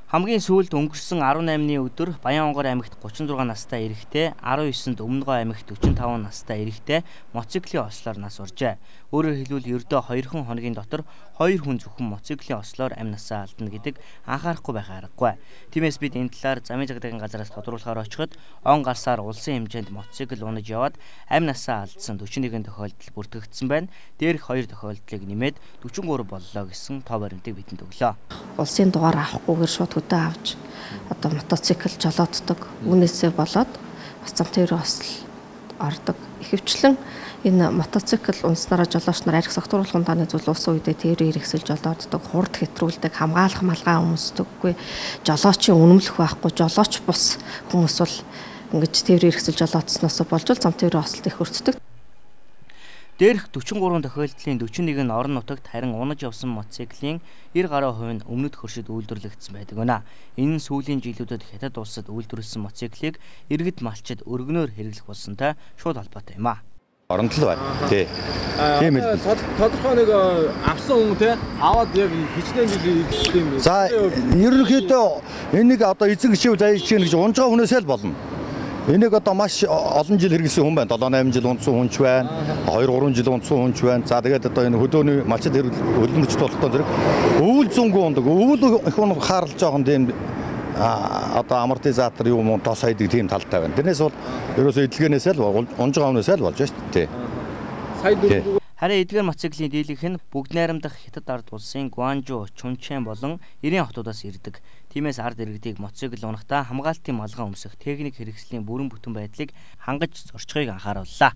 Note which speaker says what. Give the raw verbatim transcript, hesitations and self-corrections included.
Speaker 1: Хамгийн сүүлд өнгөрсөн арван наймны өдөр Баян-Онгор аймагт гучин зургаан настай эрэгтэй, арван есэнд Өмнөгов аймагт өчим таван настай эрэгтэй мотоциклийн ослоор нас уржээ. Өөрөөр хэлбэл ердөө хоёрхан хоногийн дотор хоёр хүн зөвхөн мотоциклийн ослоор амь насаа алдна гэдэг анхаарахгүй байх аргагүй. Тиймээс бид энэ талаар замын жагдагийн газараас тодруулахаар очиход он гарсаар улсын хэмжээнд мотоцикл унаж яваад амь насаа алдсан дөрвөн нэгэн тохиолдол бүртгэгдсэн байна. Дээрх хоёр тохиолдлыг нэмээд дөрвөн гурав боллоо гэсэн тоо баримтыг бидэнд өглөө.
Speaker 2: Улсын дугаар авахгүйгээр шууд хөдөө авч одоо мотоцикл жолооддог. Үүнээсээ болоод бас зам тээврийн осол ордог. Ихэвчлэн энэ мотоцикл унснараа жолооч нар арх согтууруулахын дааны зүйл улсын үедээ тээврийн хэрэгсэл жолооддог, хурд хэтрүүлдэг, хамгаалах малгай өмсдөггүй, жолоочийн үнэмлэх байхгүй, жолооч бус хүмүүс бол ингэж тээврийн хэрэгсэл жолоодсноос болж зам тээврийн осолд их өртдөг.
Speaker 1: Дээрх дөрвөн гурав тохиолдлын дөрвөн нэг нь орон нутагт харин унаж явсан мотоциклийн нэр гаруй хувь нь өмнөд хөршид үйлдвэрлэгдсэн байдаг гэнэ. Энэ нь сүүлийн жилүүдэд хятад улсад үйлдвэрлэсэн мотоциклийг иргэд малчид өргөнөөр хэрэглэх болсонтой шууд холбоотой юм а.
Speaker 3: Оронд л байна. Тий. Тийм ээ.
Speaker 4: Тодорхой нэг авсан хүн те аваад яг хичнээн жил ирсэн юм.
Speaker 3: За ерөнхийдөө энийг одоо эзэн гişив заяж чинь гэж унжгаа хүнээсээ л болно. Энийг одоо маш олон жил хэрэглэсэн хүн байна. долоо найман жил унтсан хүн ч байна. хоёр гурван жил унтсан хүн ч байна. За тэгээд одоо энэ хөдөөний малчид хөдөлмөрчд болохтой зэрэг өвөл зөнгөө ундаг. Өвөл их хүн хаарлж жоохон тийм одоо амортизатор юм уу тос хайдаг тийм талтай байна. Тэрнээс бол ерөөсөө эдлэгэнээсээ л унжгаа хүнээсээ л болж шүү дээ.
Speaker 4: Сая дөрөв
Speaker 1: Харин эдгээр мотоциклийн дийлэнх нь бүгд найрамдах хятад ард улсын Гуанжу, Чунчэн болон Ирэн хотуудаас ирдэг. Тиймээс ард иргэдийг мотоцикл унахдаа хамгаалтын малгай өмсөх техник хэрэгслийн бүрэн бүтэн байдлыг хангаж зорчихыг анхаарууллаа.